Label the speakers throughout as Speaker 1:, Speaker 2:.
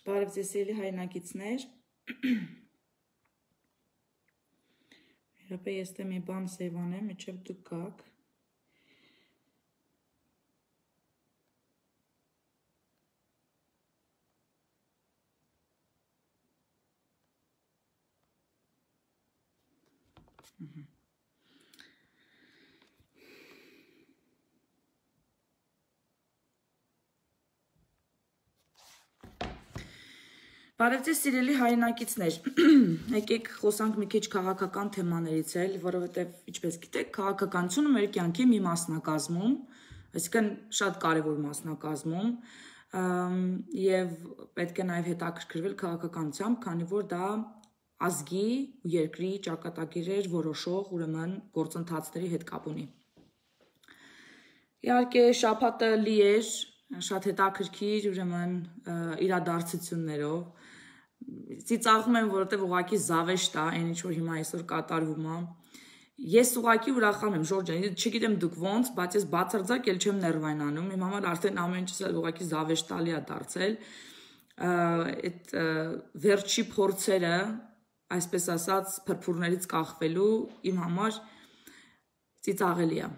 Speaker 1: Բարև ձեզ սիրելի հայրենակիցներ, երբե ես մի բան սևանեմ, մինչև դուք գաք։ Բարև ձեզ սիրելի հայրենակիցներ, եկեք խոսանք մի քիչ քաղաքական թեմաներից էլ, որովհետև ինչպես գիտեք, քաղաքականությունը մեր կյանքի մի մասնակազմում, այսինքն շատ կարևոր մասնակազմում, եւ պետք է նաև հետաքրքրվել քաղաքականությամբ, քանի որ դա ազգի ու երկրի ճակատագիրեր որոշող ուրեմն գործընթացների հետ կապ ունի։ Իհարկե շաբաթը լի էր շատ հետաքրքիր ուրեմն իրադարձություններով, ծիծաղում եմ, որովհետև ուղղակի զավեշտ է, այն ինչ որ հիմա այսօր կատարվում է։ Ես ուղղակի ուրախանում եմ, Ժորժ ջան, չգիտեմ դուք ոնց, բայց ես բացարձակ էլ չեմ ներվայնանում, իմ համար արդեն ամեն ինչս ուղղակի զավեշտալի է դարձել։ Այդ վերջի փորձերը, այսպես ասած, փրփուրներից կախվելու իմ համար ծիծաղելի է։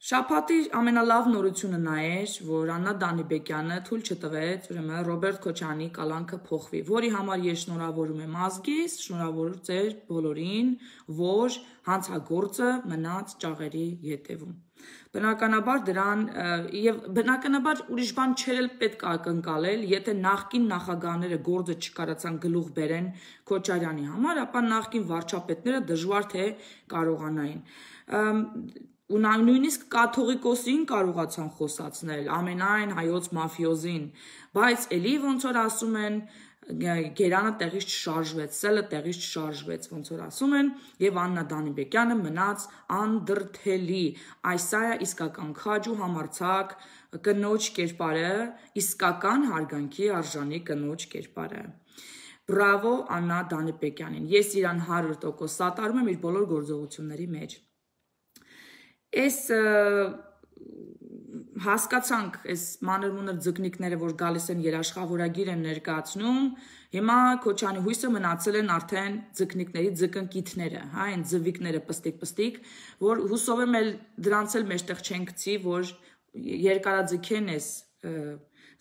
Speaker 1: Շաբաթի ամենալավ նորությունը նա էր, որ Աննա Դանիբեկյանը թույլ չտվեց, ուրեմն Ռոբերտ Քոչարյանի կալանքը փոխվի, որի համար ես շնորհավորում եմ ազգիս, շնորհավորում ձեր բոլորին, որ հանցագործը մնաց ճաղերի ետևում։ Բնականաբար դրան եւ բնականաբար ուրիշ բան չէր էլ պետք է ակնկալել, եթե նախկին նախագահները գործը չկարացան գլուխ բերեն Քոչարյանի համար, ապա նախկին վարչապետները դժվար թե կարողանային ու նույնիսկ կաթողիկոսին կարողացան խոսացնել, ամենայն հայոց մաֆիոզին, բայց էլի ոնց որ ասում են, գերանը տեղից չշարժվեց, սելը տեղից չշարժվեց, ոնց որ ասում են, եւ Աննա Դանիբեկյանը մնաց անդրթելի, այսա է իսկական քաջ ու համարձակ կնոջ կերպարը, իսկական հարգանքի արժանի կնոջ կերպարը։ Բրավո Աննա Դանիբեկյանին, ես իրան 100% սատարում եմ իր բոլոր գործողությունների մեջ։ Այս հասկացանք այս մանր-մունր ձկնիկները, որ գալիս են երաշխավորագիր են ներկայացնում, հիմա Քոչարյանի հույսը մնացել են արդեն ձկնիկների ձկնկիթները, հա, այն ձվիկները պստիկ, որ հուսով եմ էլ դրանց էլ մեջտեղ չեն գցի, որ երկարաձգեն այս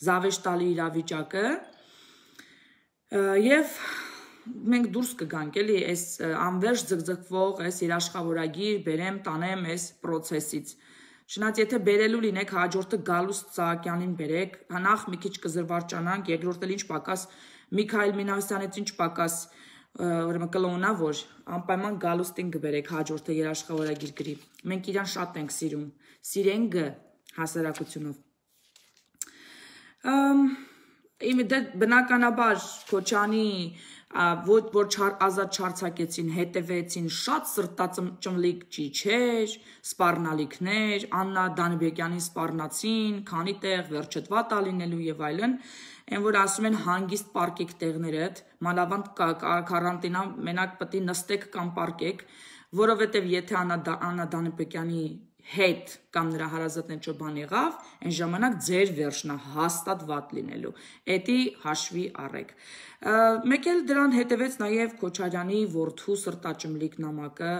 Speaker 1: զավեշտալի իրավիճակը եւ մենք դուրս կգանք էլի այս անվերջ ձգձգվող այս երաշխավորագիր բերեմ տանեմ այս process-ից։ Չնայած եթե բերելու լինեք հաջորդը Գալուստ Սահակյանին բերեք, նախ մի քիչ կզրվարճանանք, երկրորդ էլ ինչ պակաս Միքայել Մինասյանից ինչ պակաս ուրեմն կլոնա, որ անպայման Գալուստին կբերեք հաջորդը երաշխավորագիր գրի։ Մենք իրան շատ ենք սիրում, սիրենք հասարակությունով։ Բնականաբար Քոչարյանի որ ազատ չարձակեցին, հետևեցին շատ սրտաճմլիկ ճիչեր, սպառնալիքներ, Աննա Դանիբեկյանին սպառնացին, քանի տեղ վերջտվա տա լինելու եւ այլն, այն որ ասում են հանգիստ պարկեք տեղներդ, մանավանդ կարանտինա մենակ պետք է նստեք կամ պարկեք, որովհետեւ եթե Աննա Դանիբեկյանի հետ կամ նրա հարազատն ինչ բան եղավ, այն ժամանակ ձեր վերջնա հաստատ վատ լինելու։ Էդի հաշվի առեք։ Մեկ էլ դրան հետևեց նաև Քոչարյանի որդու սրտաճմլիկ նամակը,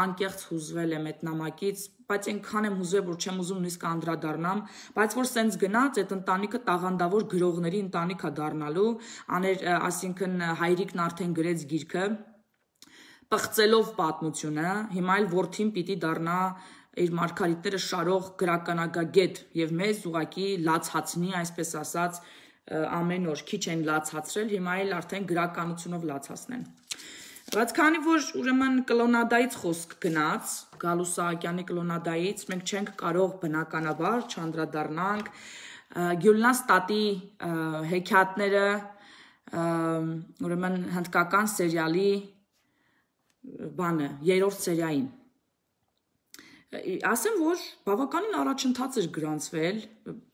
Speaker 1: անկեղծ հուզվել եմ այդ նամակից, բայց այնքան եմ հուզվել, որ չեմ ուզում նույնիսկ անդրադառնամ, բայց որ սենց գնաց, այդ ընտանիքը տաղանդավոր գրողների ընտանիք է դառնալու, այսինքն հայրիկն արդեն գրեց գիրքը, պղծելով պատմությունը, հիմա էլ որդին պիտի դառնա իր մարգարիտները շարող գրականագագետ եւ մեզ ուղակի լացացնի, այսպես ասած, ամեն օր քիչ են լացացրել, հիմա էլ արդեն գրականությունով լացացնեն։ Բայց քանի որ ուրեմն կլոնադայից խոսք գնաց, Գալուստ Սահակյանի կլոնադայից, մենք չենք կարող բնականաբար չանդրադառնանք Գյուլնաս տատի հեքիաթները, ուրեմն հնդկական սերիալի բանը, 3-րդ սերիային։ Ասեմ, որ բավականին առաջընթաց էր գրանցվել,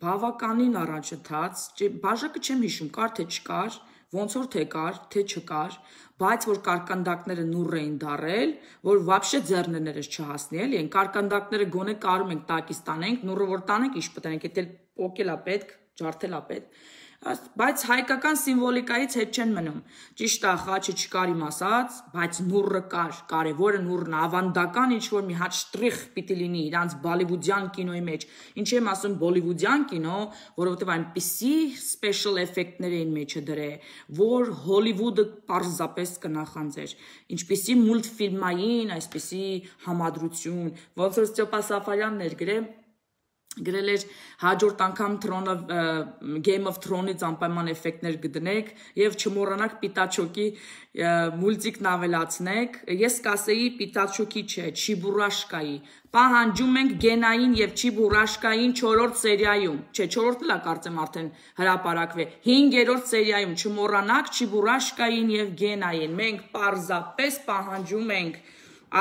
Speaker 1: բավականին առաջընթաց, բաժակը չեմ հիշում, կար թե չկար, ոնց որ թե կար, թե չկար, բայց որ կարկանդակները նուռ էին դարել, որ վաբշե ձեռներս չհասնի, էլի, այն կարկանդակները գոնե կարում ենք տակից տանենք, նուռը որ տանենք, ինչ պտանենք, եթե պոկել է պետք, ջարդել է պետք, Բայց հայկական սիմվոլիկայից հետ չեն մնում։ Ճիշտ է, խաչը չկար իմ ասած, բայց նուռը կար, կարևորը նուռն է, ավանդական ինչ-որ մի հատ շտրիխ պիտի լինի իրանց բոլիվուդյան կինոյի մեջ։ Ինչ եմ ասում բոլիվուդյան կինո, որովհետև այնպիսի special effect-ներ էին մեջը դրել, որ Հոլիվուդը պարզապես կնախանձեր։ Ինչպիսի մուլտֆիլմային, այսպիսի համադրություն, ոնց որ Ստեփա Սաֆարյանն էր գրել էր հաջորդ անգամ Game of Thrones-ից անպայման էֆեկտներ գտնեք եւ չմոռանաք Պիտաչոկի մուլտիկն ավելացնեք։ Ես կասեի Պիտաչոկի չէ, Չիբուրաշկայի։ Պահանջում ենք Գենային եւ Չիբուրաշկային 4-րդ սերիայում։ Չէ, 4-րդն էլ կարծեմ արդեն հրապարակվե։ 5-րդ սերիայում չմոռանաք Չիբուրաշկային եւ Գենային։ Մենք պարզապես պահանջում ենք,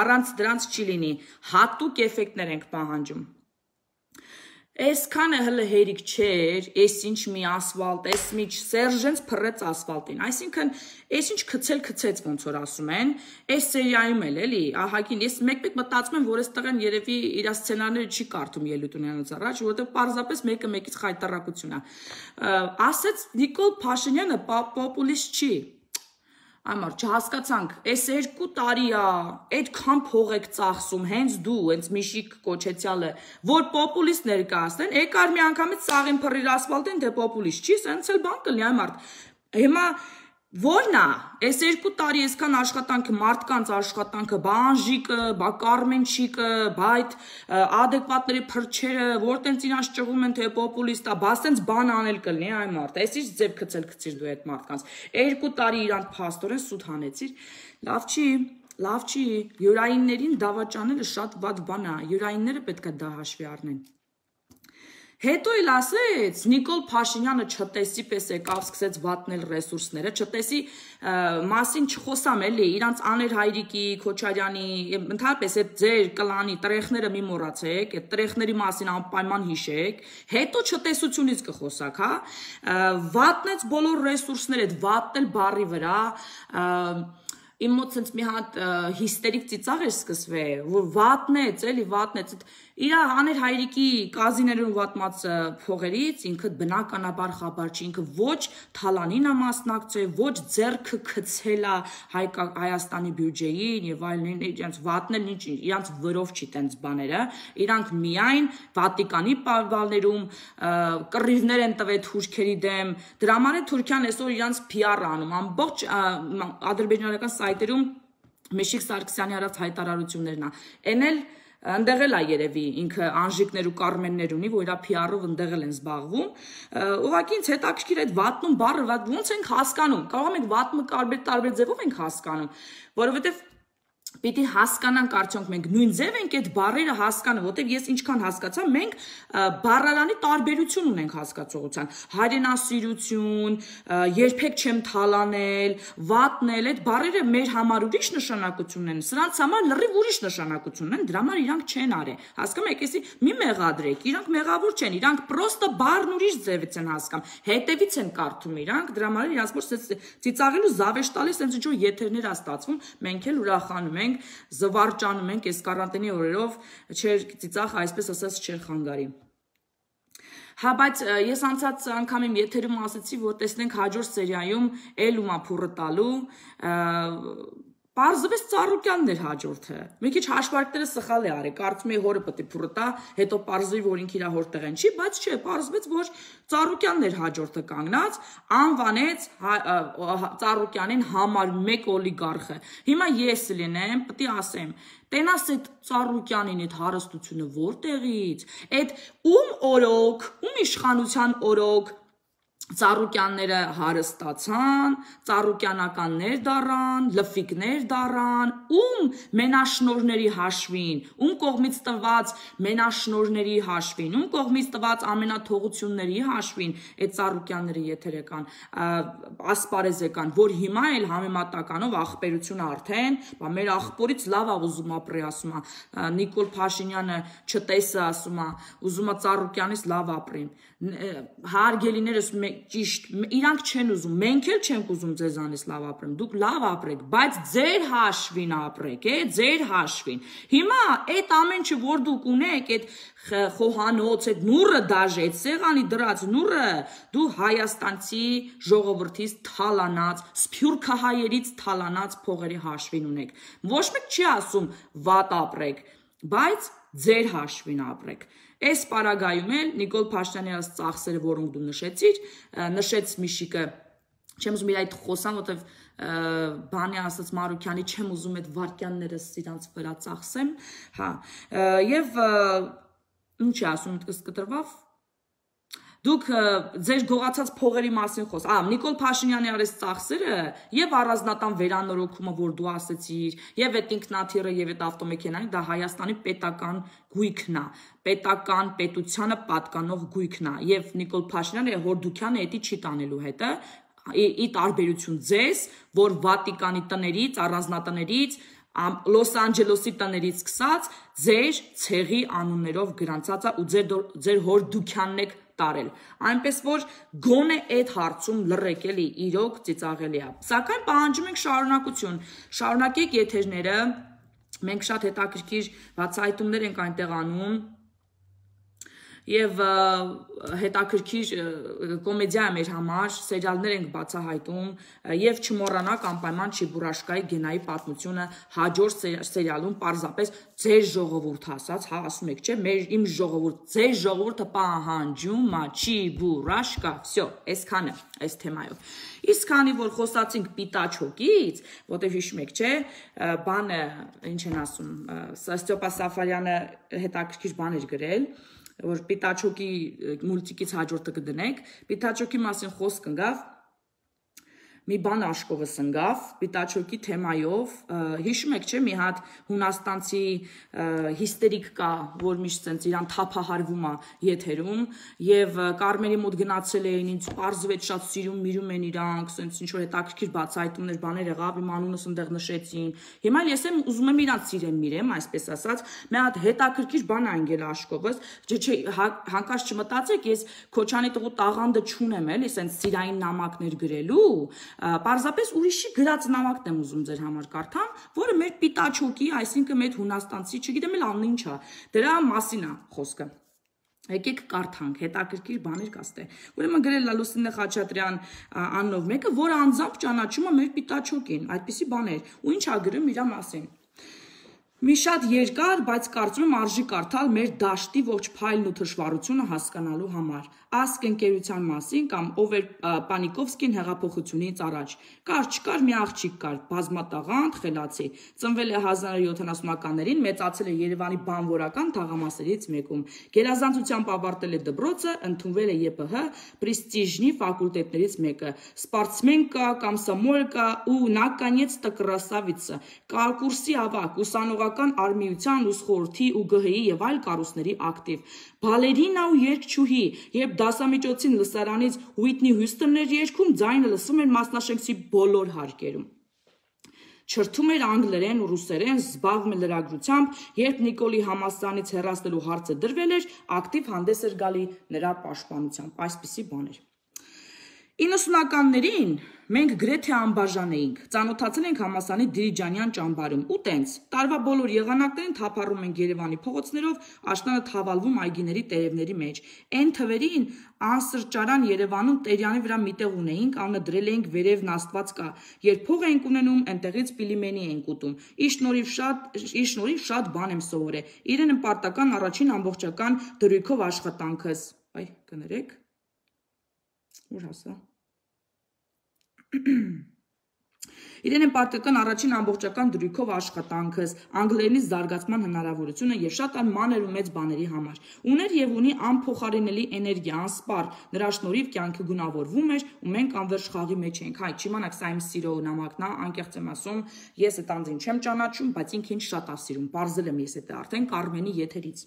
Speaker 1: առանց դրանց չի լինի, հատուկ էֆեկտներ ենք պահանջում։ Այսքանը հələ հերիք չէր, ինչ մի ասֆալտ, մի Սերժենց փռեց ասֆալտին, այսինքն ինչ քցեց ոնց որ ասում են, այս սերիայում էլ էլի, ահագին, ես մեկ-մեկ մտածում եմ, որ այս տղեն երևի իր սցենարները չի կարդում Ելուտունյանից առաջ, որովհետև պարզապես մեկը մեկից խայտարակություն է։ Ասեց Նիկոլ Փաշինյանը պոպուլիստ չի։ Այմար, չհասկացանք, այս 2 տարի է, այդքան փող եք ծախսում, հենց դու, հենց Միշիկ Կոչեցյալը, որ պոպուլիստ ներկայացնեն, եկար մի անգամից սաղին փռիր ասֆալտին, թե պոպուլիստ չի, սենց էլ բան կլինի, այմար։ Հիմա Որն է, այս 2 տարի այսքան աշխատանքը, մարդկանց աշխատանքը, բա Անժիկը, բա Կարմենչիկը, բա այդ ադեկվատների փրչերը, որտենց իրանց ճղում են, թե պոպուլիստ է, բա սենց բան անել կլինի, այ մարդ, այս ինչ ձև քցիր դու այդ մարդկանց, 2 տարի իրանց փաստորեն սուտ հանեցիր, լավ չի, յուրայիններին դավաճանելը շատ վատ բան է, յուրայինները պետք է դա հաշվի առնեն։ Հետո էլ ասեց, Նիկոլ Փաշինյանը չտեսի պես եկավ, սկսեց վատնել ռեսուրսները, չտեսի մասին չխոսամ էլի, իրանց Աներ Հայրիկի, Քոչարյանի, ընդհանրապես այդ ձեր կլանի տրեխները մի մոռացեք, այդ տրեխների մասին անպայման հիշեք, հետո չտեսությունից կխոսակ, հա, վատնեց բոլոր ռեսուրսները, այդ վատնել բառի վրա, իմ մոտ սենց մի հատ հիստերիկ ծիծաղ էր սկսվել, որ վատնեց, էլի վատնեց, իր Աներ Հայրիկի կազիներում վատմած փողերից ինքը բնականաբար խաբար չի, ինքը ոչ թալանին է մասնակցել, ոչ ձեռքը քցել է Հայաստանի բյուջեին եւ այլն, իրենց վատնել իրանց վրով չի տենց բաները, իրանք միայն Վատիկանի պալներում կռիվներ են տվել թուրքերի դեմ, դրա համար է Թուրքիան այսօր իրանց PR-ը անում, ամբողջ ադրբեջանական սայթերում Միշիկ Սարգսյանի արած հայտարարություններն է, ընդեղ էլ է երևի ինքը Անժիկներ ու Կարմեններ ունի, որ իրա PR-ով ընդեղ են զբաղվում, ուղղակի ինձ հետաքրքիր այդ վատնում բառը ոնց ենք հասկանում, կարող ենք վատմը տարբեր ձևով ենք հասկանում, որովհետև պիտի հասկանանք արդյոք մենք նույն ձև ենք այդ բառերը հասկանում, որտեղ ես ինչքան հասկացա, մենք բառարանի տարբերություն ունենք հասկացողության, հայրենասիրություն, երբեք չեմ թալանել, վատնել, այդ բառերը մեր համար ուրիշ նշանակություն են, սրանց համար լրիվ ուրիշ նշանակություն են, դրա համար իրանք չեն արել, հասկանում եք, էսի մի մեղադրեք, իրանք մեղավոր չեն, իրանք պրոստը բառն ուրիշ ձևից են հասկանում, հետևից են կարդում իրանք, դրա համար իրանք որ ծիծաղելու զավեշ տալիս, այնց ինչ-որ եթերներ ա ստացվում, մենք էլ ուրախանում ենք, զվարճանում ենք այս կարանտինի օրերով, չեր ծիծաղ այսպես ասած չեր խանգարի։ Հա, բայց ես անցած անգամ իմ եթերում ասացի, որ տեսնենք հաջորդ սերիայում Էլումա փուռը տալու, Պարզվեց Ծառուկյանն էր հաջորդը, մի քիչ հաշվարկները սխալ է արել, կարծում էի հորը պետք է փուռը տա, հետո պարզվի, որ ինքը իր հոր տեղեն չի, բայց չէ, պարզվեց, որ Ծառուկյանն էր հաջորդը կանգնած, անվանեց Ծառուկյանին համար 1 օլիգարխը։ Հիմա ես լինեմ, պետք է ասեմ, տենաս այդ Ծառուկյանին այդ հարստությունը որտեղից, այդ ում օրոք, ում իշխանության օրոք Ծառուկյանները հարստացան, ծառուկյանականներ դառան, լֆիկներ դառան, ում մենաշնորհների հաշվին, ում կողմից տված մենաշնորհների հաշվին, ում կողմից տված ամենաթողությունների հաշվին այդ ծառուկյանները եթեր եկան, ասպարեզ եկան, որ հիմա էլ համեմատականով ախպերությունը արդեն, մեր ախպորից լավ է ուզում ապրի, ասում է, Նիկոլ Փաշինյանը չտեսը ասում է, ուզում է Ծառուկյանից լավ ապրի, հարգելիներս ճիշտ, իրանք չեն ուզում, մենք էլ չենք ուզում ձեզանից լավ ապրեմ, դուք լավ ապրեք, բայց ձեր հաշվին ապրեք, ձեր հաշվին։ Հիմա այդ ամեն ինչը, որ դուք ունեք, այդ խոհանոց, այդ նուրը դաժե, այդ սեղանի դրած նուրը, դու Հայաստանցի ժողովրդից թալանած, սփյուռքահայերից թալանած փողերի հաշվին ունեք։ Ոչ մեկ չի ասում վատ ապրեք, բայց ձեր հաշվին ապրեք։ Այս պարագայում էլ Նիկոլ Փաշինյանի այս ծախսերը, որոնք դու նշեցիր, նշեց Միշիկը, չեմ ուզում իր այդ խոսան, որտեվ բանի ասած Մարուկյանի չեմ ուզում այդ վարքյանները իրանց վրա ծախսեմ, հա, եւ ինչ է ասում, մտքս կտրվավ, դուք ձեր գողացած փողերի մասին խոս, Նիկոլ Փաշինյանի արես ծախսերը եւ առանձնատան վերանորոգումը, որ դու ասեցիր, եւ այդ ինքնաթիռը եւ այդ ավտոմեքենան, դա Հայաստանի պետական գույքն է, պետական պետությանը պատկանող գույքն է, եւ Նիկոլ Փաշինյանը Հորդուքյանը էդի չի տանելու հետը, ի տարբերություն ձեզ, որ Վատիկանի տներից, առանձնատներից, Լոս Անջելեսի տներից սկսած ձեր ցեղի անուններով գրանցած է ու ձեր Հորդուքյանն եք տարել, այնպես որ գոնե այդ հարցում լռեք էլի, իրոք ծիծաղելի է, սակայն պահանջում ենք շարունակություն, շարունակեք եթերները, մենք շատ հետաքրքիր բացահայտումներ ենք այնտեղ անում, եւ հետաքրքիր կոմեդիա է մեր համար, սերիալներ ենք բացահայտում եւ չմոռանաք անպայման Չիբուրաշկայի Գենայի պատմությունը հաջորդ սերիալում պարզապես ձեր ժողովուրդ ասած, հա ասում եք, չէ, իմ ժողովուրդ, ձեր ժողովուրդը պահանջում է Չիբուրաշկա, всё, այսքանը այս թեմայով։ Իսկ քանի որ խոսացինք Պիտաչոկից, որտեղ հիշում եք, չէ, բանը ինչ են ասում, Ստեփա Սաֆարյանը հետաքրքիր բան էր գրել, որ Պիտաչոկի մուլտիկից հաջորդը կդնենք, Պիտաչոկի մասին խոսք ընկավ, մի բան աշկովս ընկավ, Պիտաչոկի թեմայով, հիշում եք, չէ, մի հատ հունաստանցի հիստերիկ կա, որ միշտ սենց իրան թափահարվում է եթերում, եւ Կարմենի մոտ գնացել էին, ինձ պարզվեց շատ սիրում միրում են իրանք, սենց ինչ որ հետաքրքիր բացահայտումներ, բաներ եղավ, իմ անունս ընդեղ նշեցին, հիմա ես եմ ուզում եմ իրանք սիրեմ միրեմ, այսպես ասած, մի հատ հետաքրքիր բան անգել աշկովս, չէ, հանկարծ չմտածեք, ես Քոչանի տղու տաղանդը չունեմ, էլի, սենց սիրային նամակներ գրելու, պարզապես ուրիշի գրած նամակն եմ ուզում ձեր համար կարդամ, որը մեր Պիտաչոկի, այսինքն մեր հունաստանցի, չգիտեմ էլ անունը ինչ է, դրա մասին է խոսքը։ Եկեք կարդանք, հետաքրքիր բաներ կաստե։ Ուրեմն գրել է Լուսինե Խաչատրյան անունով մեկը, որը անձամբ ճանաչում է մեր Պիտաչոկին, այդպիսի բաներ, ու ինչ է գրում իր մասին։ Մի շատ երկար, բայց կարծում եմ արժի կարդալ մեր դաշտի ողջ փայլն ու թշվառությունը հասկանալու համար։ Ասկ ընկերության մասին կամ ով էր Պանիկովսկին հեղափոխությունից առաջ։ Կար չկար մի աղջիկ կար, բազմատաղանդ, խելացի։ Ծնվել է 1970-ականներին, մեծացել է Երևանի բանվորական թաղամասերից մեկում։ Գերազանցությամբ ավարտել է դպրոցը, ընդունվել է ԵՊՀ պրեստիժնի ֆակուլտետներից մեկը։ Սպորտսմենկա, կոմսոմոլկա ու наконец-то красавица։ Կուրսի ավակ, ուսանողական արմիության, ուսխորհրդի ու ԳՀ-ի եւ այլ կառույցների ակտիվ։ Բալերինա ու երգչուհի, երբ դասամիջոցին լսարանից Ուիթնի Հյուսթոնն էր երգում, ձայնը լսվում էր Մասնաշենքսի բոլոր հարկերում։ Չրթում էր անգլերեն ու ռուսերեն, զբաղվում էր լրագրությամբ, երբ Նիկոլի Համասյանից հեռացնելու հարցը դրվել էր, ակտիվ հանդես էր գալի նրա պաշտպանությամբ, այսպիսի բաներ։ 90-ականներին մենք գրեթե անբաժան էինք, ծանոթացել ենք Համասյանի Դիլիջանյան ճամբարում ու տենց, տարվա բոլոր եղանակներին թափառում ենք Երևանի փողոցներով, աշնանը թավալվում այգիների տերևների մեջ, այն թվերին անսրճարան Երևանում Տերյանի վրա միտեղ ունեինք, անունը դրել էինք վերևն Աստված կա, երբ փող էինք ունենում, այնտեղից պիլիմենի էինք ուտում, իր շնորհիվ շատ բան եմ սովորել, իրեն պարտական առաջին ամբողջական դրույքով աշխատանքս, այ կներեք, ուր հասա Իրեն են պարտական առաջին ամբողջական դրույքով աշխատանքս, անգլերենից զարգացման հնարավորությունը եւ շատ այլ մանր ու մեծ բաների համար։ Ուներ եւ ունի անփոխարինելի էներգիա, անսպար, նրա շնորհիվ կյանքը գունավորվում էր ու մենք անվերջ խաղի մեջ էինք։ Հայ, չիմանաք, սա իմ սիրո նամակն է, անկեղծ եմ ասում, ես այդ անձին չեմ ճանաչում, բայց ինքը ինձ շատ է սիրում, բարձել եմ ես այդ արդեն Կարմենի եթերից։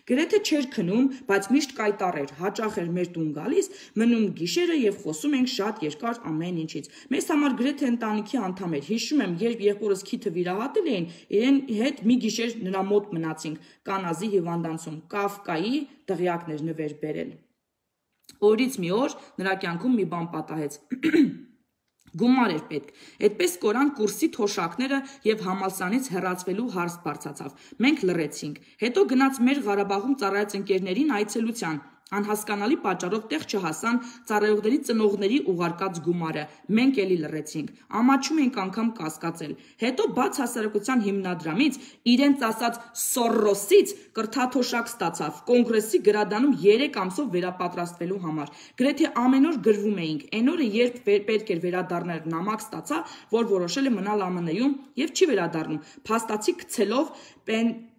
Speaker 1: Գրեթե չէր քնում, բայց միշտ կայտառ էր, հաճախ էր մեր տուն գալիս, մնում գիշերը եւ խոսում ենք շատ երկար ամեն ինչից։ Մեզ համար գրեթե ընտանիքի անդամ էր։ Հիշում եմ, երբ եղբորս քիթը վիրահատել էին, իրեն հետ մի գիշեր նրա մոտ մնացինք Կանազի հիվանդանոցում, Կաֆկայի դղյակներ նվեր բերել։ Օրից մի օր նրա կյանքում մի բան պատահեց։ Գումար էր պետք։ Այդպես կորան կուրսի թոշակները եւ համալսարանից հեռացվելու հարց բարձացավ։ Մենք լռեցինք։ Հետո գնաց մեր Ղարաբաղում ծառայած ընկերներին այցելության։ Անհասկանալի պատճառով տեղ չհասան ծառայողների ծնողների ուղարկած գումարը։ Մենք էլի լռեցինք։ Ամաչում էինք անգամ կասկածել։ Հետո բաց հասարակության հիմնադրամից իրենց ասած Սորոսից կրթաթոշակ ստացավ կոնգրեսի գրադանում 3 ամսով վերապատրաստվելու համար։ Գրեթե ամեն օր գրվում էինք։ Այն օրը երբ պետք էր վերադառնալ նամակ ստացա, որ որոշել է մնալ ԱՄՆ-ում եւ չի վերադառնում։ Փաստացի գցելով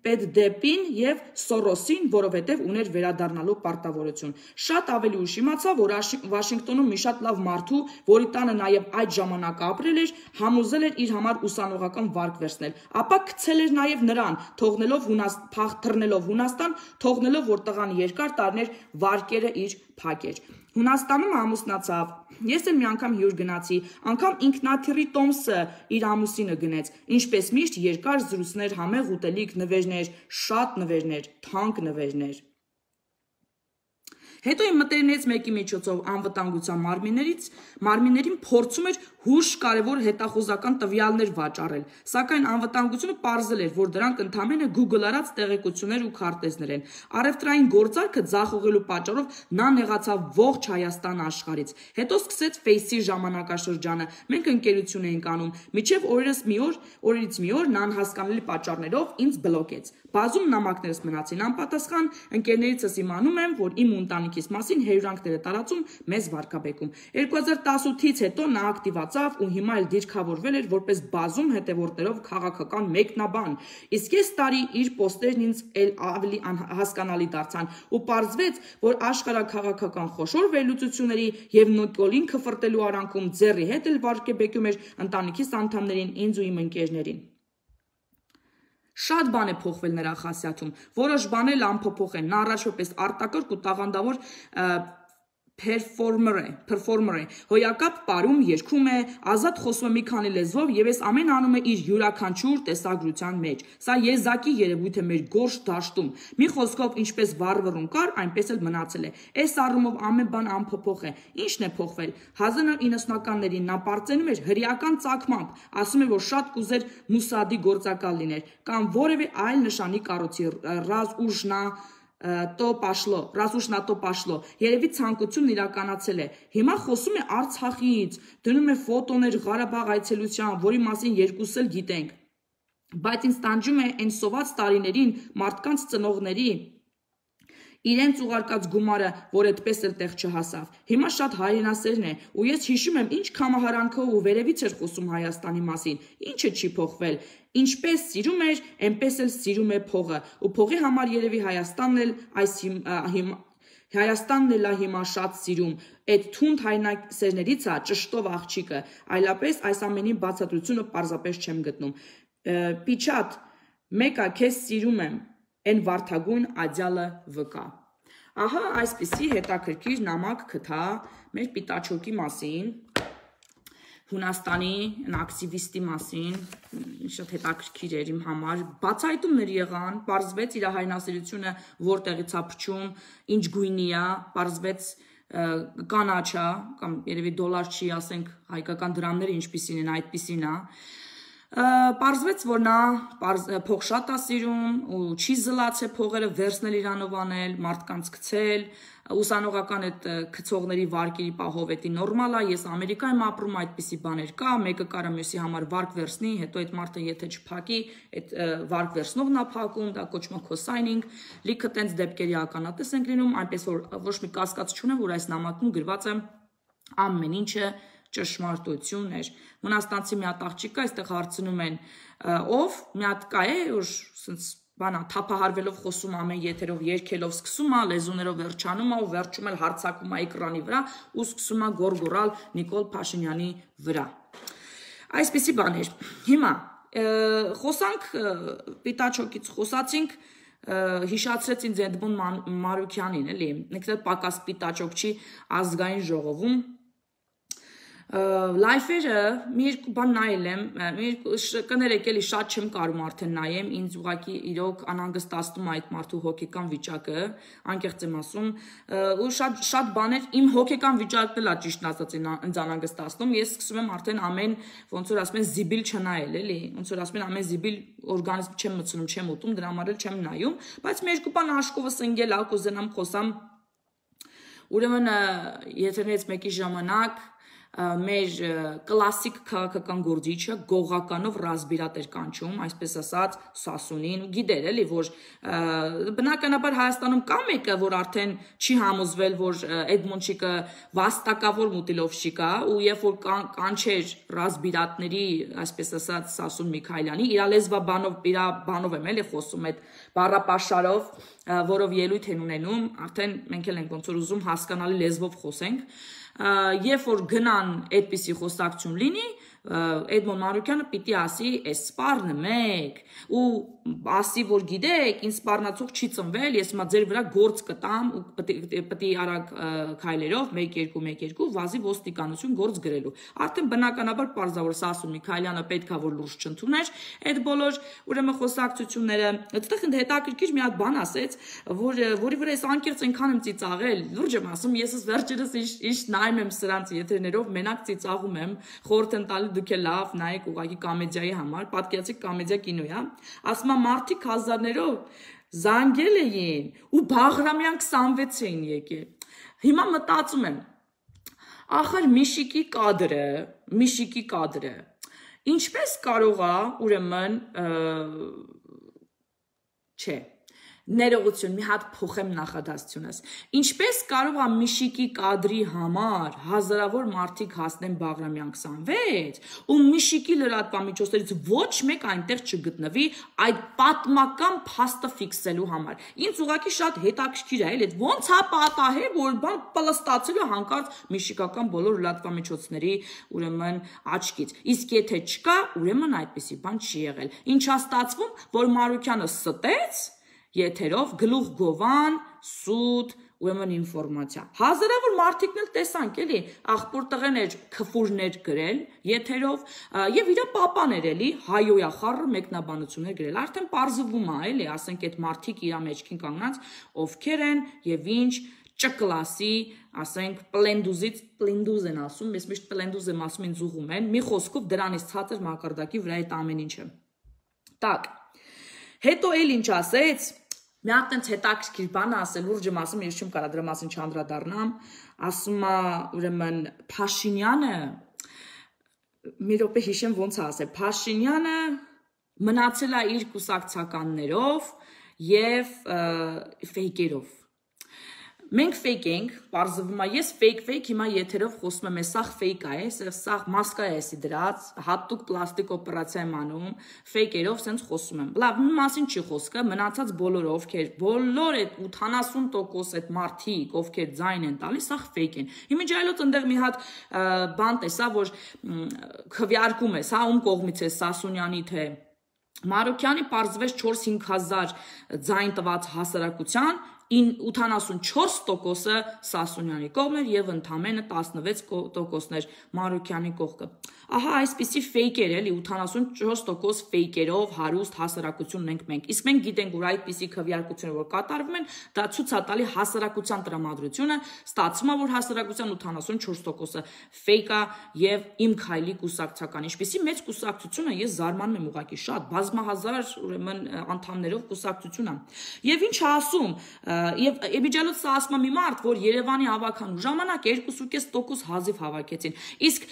Speaker 1: Պետդեպին եւ Սորոսին, որովհետեւ ուներ վերադառնալու պարտավորություն։ Շատ ավելի ուշ իմացա, որ Վաշինգտոնում մի շատ լավ մարդու, որի տանը նաեւ այդ ժամանակ ապրել էր, համոզել էր իր համար ուսանողական վարկ վերցնել։ Ապա գցել էր նաեւ նրան, թռնելով Հունաստան, թողնելով, որ տղան երկար տարիներ վարկերը իր փակեր։ Հունաստանում ամուսնացավ։ Ես էլ մի անգամ հյուր գնացի, անգամ ինքնաթիռի Տոմսը իր ամուսինը գնեց։ Ինչպես միշտ երկար զրույցներ, համեղ ուտելիք, նվերներ, շատ նվերներ, թանկ նվերներ։ Հետո իմ մտերիմներից մեկի միջոցով անվտանգության մարմիններին փորձում էր հուշ կարևոր հետախուզական տվյալներ վաճառել, սակայն անվտանգությունը պարզել էր, որ դրանք ընդամենը Google արած տեղեկություններ ու քարտեզներ են։ Առևտրային գործարքը ձախողելու պատճառով նա նեղացավ ողջ Հայաստան աշխարհից։ Հետո սկսեց Face-ի ժամանակաշրջանը։ Մենք ընկերություն էինք անում, մինչև օրերից մի օր նա անհասկանալի պատճառներով ինձ բլոկեց։ Բազում նամակներս մնացին անպատասխան, ընկերներիցս իմանում եմ, որ իմ ընտանիքիս մասին հերյուրանքներ է տարածում մեզ վարկաբեկում։ 2018-ից հետո նա ակտիվացավ ու հիմա էլ դիրքավորվել էր որպես բազում հետևորդներով քաղաքական մեկնաբան։ Իսկ այս տարի իր պոստերն ինձ էլ ավելի հասկանալի դարձան ու պարզվեց, որ աշխարհաքաղաքական խոշոր վերլուծությունների եւ Նիկոլին քֆրտելու արանքում ձեռի հետ էլ վարկաբեկում էր ընտանիքիս անդամներին, ինձ ու իմ ընկերներին։ Շատ բան է փոխվել նրա խասյաթում, որոշ բաներ անփոփոխ են, նա առաջ որպես արտակարգ ու տաղանդավոր performer է, հոյակապ պարում, երգում է, ազատ խոսում է մի քանի լեզվով եւ այս ամենը անում է իր յուրաքանչյուր տեսագրության մեջ։ Սա եզակի երևույթ է մեր գորշ դաշտում։ Մի խոսքով, ինչպես վառվռուն կար, այնպես էլ մնացել է։ Այս առումով ամեն բան անփոփոխ է։ Ինչն է փոխվել։ 1990-ականներին նա պարծենում էր հրեական ծագմամբ, ասում է, որ շատ կուզեր Մուսադի գործակալ լիներ կամ որևէ այլ նշանի կառույցի Ռազ ուշ նատո պաշլո, երևի ցանկությունն իրականացել է։ Հիմա խոսում է Արցախից, դնում է ֆոտոներ Ղարաբաղ այցելության, որի մասին երկուսս էլ գիտենք։ Բայց ինձ տանջում է այն սոված տարիներին մարդկանց ծնողների իրենց ուղարկած գումարը, որ այդպես էլ տեղ չհասավ։ Հիմա շատ հայրենասերն է, ու ես հիշում եմ, ինչ կամահարանքով ու վերևից էր խոսում Հայաստանի մասին, ինչը չի փոխվել։ Ինչպես սիրում էր, այնպես էլ սիրում է փողը, ու փողի համար երևի Հայաստանն էլ հիմա շատ սիրում։ Այդ թունդ հայրենասերներից է ճշտով աղջիկը, այլապես այս ամենի բացատրությունը պարզապես չեմ գտնում։ Պիչատ, մեկա քեզ սիրում եմ, Են վարդագույն ադյալը վկա։ Ահա այսպիսի հետաքրքիր նամակ գտա մեր Պիտաչոկի մասին, Հունաստանի ակտիվիստի մասին, շատ հետաքրքիր էր իմ համար, բացահայտումներ եղան, պարզվեց իր հայրենասիրությունը որտեղից է փչում, ինչ գույնի է, պարզվեց կանաչ է, կամ երևի դոլար չի, ասենք հայկական դրամները ինչպիսին են, այդպիսին է։ Պարզվեց, որ նա փող շատ է սիրում ու չի զլացել փողերը վերցնել իրանով անել, մարդկանց գցել, ուսանողական այդ գցողների վարկերի պահով էդի նորմալ է, ես Ամերիկայում ապրում, այդպիսի բաներ կա, մեկը կարա մյուսի համար վարկ վերցնի, հետո այդ մարդը եթե չփակի, այդ վարկ վերցնողն է փակում, դա կոչվում է co-signing, լիքը տենց դեպքերի ականատես ենք լինում, այնպես որ ոչ մի կասկած չունեմ, որ այս նամակում գրված է ամեն ինչը ճշմարտություն էր։ Հունաստանցի մի հատ աղջիկ կա, այստեղ հարցնում են, ով մի հատ կա է, որ սենց բանա թափահարվելով խոսում ամեն եթերով, երգելով սկսում է, լեզուներով վերջանում է ու վերջում էլ հարցակում է էկրանի վրա ու սկսում է գոռգոռալ Նիկոլ Փաշինյանի վրա։ Այսպիսի բաներ։ Հիմա խոսանք Պիտաչոկից խոսացինք, հիշացրեց ինձ Էդմոն Մարուքյանին, էլի, ինքն էլ պակաս Պիտաչոկ չի ազգային ժողովում Լայֆերը մի երկու բան նայել եմ, կներեք էլի շատ չեմ կարում արդեն նայեմ, ինձ ուղղակի իրոք անհանգստացնում այդ մարդու հոգեկան վիճակը, անկեղծ եմ ասում, ու շատ բաներ իմ հոգեկան վիճակն էլ է ճիշտն ասած ինձ անհանգստացնում, ես սկսում եմ արդեն ամեն ոնց որ ասում են զիբիլ չնայել, էլի, ոնց որ ասում են ամեն զիբիլ օրգանիզմ չեմ մտցնում, չեմ ուտում, դրա համար էլ չեմ նայում, բայց մի երկու բան աշկովս ընկել ա, կուզենամ խոսամ, ուրեմն եթերներից մեկի ժամանակ մեր կլասիկ քաղաքական գործիչը գողականով ռազմիրատ էր կանչում, այսպես ասած Սասունին, գիտեր էլի, որ բնականաբար Հայաստանում կա մեկը, որ արդեն չի համոզվել, որ Էդմոնչիկը վաստակավոր մուտիլովշի կա, ու երբ որ կանչեր ռազմիրատների, այսպես ասած Սասուն Միքայելյանի, իր լեզվաբանով եմ էլի խոսում այդ բառապաշարով, որով ելույթ են ունենում, արդեն մենք էլ ենք ոնց որ ուզում հասկանալի լեզվով խոսենք, երբ որ գնան այդպիսի խոսակցություն լինի, Էդմոն Մանուկյանը պիտի ասի, այս սպառնը մեկ, ու ասի, որ գիտեք, ինձ սպառնացող չի ծնվել, ես հիմա ձեր վրա գործ կտամ, ու պիտի արագ քայլերով, 1-2-1-2, վազի ոստիկանություն գործ գրելու։ Արդեն բնականաբար պարզավոր Սասուն Միքայելյանը պետքա որ լուրջ չընդուներ, այդ բոլոր ուրեմն խոսակցությունները, այդտեղ հետաքրքիր մի հատ բան ասեց, որի վրա ես անկեղծ այնքան եմ ծիծաղել, լուրջ եմ ասում, ես վերջերս ինչ նայում եմ սրանց եթերներով, մենակ ծիծաղում եմ, խորհուրդ եմ տալի դուք էլ լավ նայեք ուղղակի կոմեդիայի համար, պատկերացիք կոմեդիա կինո է, ասում եմ մարդիկ հազարներով զանգել էին ու Բաղրամյան 26 էին եկել։ Հիմա մտածում եմ, ախր Միշիկի կադրը, ինչպես կարող է ուրեմն չէ ներողություն, մի հատ փոխեմ նախադասությունս։ Ինչպես կարող է Միշիկի կադրի համար հազարավոր մարդիկ հասնեն Բաղրամյան 26, ու Միշիկի լրատվամիջոցներից ոչ մեկ այնտեղ չգտնվի այդ պատմական փաստը ֆիքսելու համար։ Ինձ ուղղակի շատ հետաքրքիր է, էլի ոնց է պատահել, որ բան պլստացել է հանկարծ միշիկական բոլոր լրատվամիջոցների ուրեմն աչքից։ Իսկ եթե չկա, ուրեմն այդպիսի բան չի եղել։ Ինչա ստացվում, որ Մանուկյանը ստեց եթերով գլուխ գովան, սուտ, ուրեմն ինֆորմացիա։ Հազարավոր մարդիկն էլ տեսանք, էլի, աղբոր տղեներ քֆուրներ գրել եթերով եւ իր պապաներ էլի հայոյա խառը մեկնաբանություններ գրել։ Արդեն պարզվում է, էլի, ասենք այդ մարդիկ իր մեջքին կանգնած ովքեր են եւ ինչ ճկլասի, ասենք պլենդուզ են ասում, ես միշտ պլենդուզ եմ ասում, ինձ ուղում են, մի խոսքով դրանից ցածր մակարդակի վրա այդ ամեն ինչը։ Так, հետո էլ ինչ ասեց, մի հատ տենց հետաքրքիր բան ասել, լուրջ եմ ասում, ես չեմ կարա դրա մասին չանդրադառնամ, ասում է ուրեմն Փաշինյանը, մի րոպե հիշեմ ոնց է ասել, Փաշինյանը մնացել է իր կուսակցականներով եւ ֆեյքերով։ Մենք ֆեյք ենք, պարզվում է, ես ֆեյք հիմա եթերով խոսում եմ, սաղ ֆեյք է, սաղ մասկա է էսի դրած, հատուկ պլաստիկ օպերացիա եմ անում, ֆեյքերով սենց խոսում եմ։ Լավ, մի մասին չի խոսքը, մնացած բոլորը ովքեր, բոլոր այդ 80% այդ մարդիկ, ովքեր ձայն են տալիս, սաղ ֆեյք են։ Իմիջայլոց ընդեղ մի հատ բան տեսա, որ քվեարկում է, սա ում կողմից է, Սասունյանի թե Մանուկյանի պարզվեց 4-5 հազար ձայն տված հասարակության 84%-ը Սասունյանի կողմն էր եւ ընդամենը 16%-ներ Մանուկյանի կողքը։ Ահա այսպիսի ֆեյքեր էլի 84% ֆեյքերով հարուստ հասարակություն ունենք մենք։ Իսկ մենք գիտենք, որ այդպիսի քվեարկությունները որ կատարվում են, դա ցույց է տալի հասարակության տրամադրությունը, ստացվում է, որ հասարակության 84%-ը ֆեյք է եւ իմ քայլի կուսակցական։ Ինչպիսի մեծ կուսակցությունը ես զարմանում եմ ուղղակի շատ, բազմահազար ուրեմն անդամներով կուսակցություն է։ Եվ ինչ ասում, եւ Էբիջալոց սա ասում է մի մարդ, որ Երևանի հավաքանու ժամանակ 2.5% հազիվ հավաքեցին։ Իսկ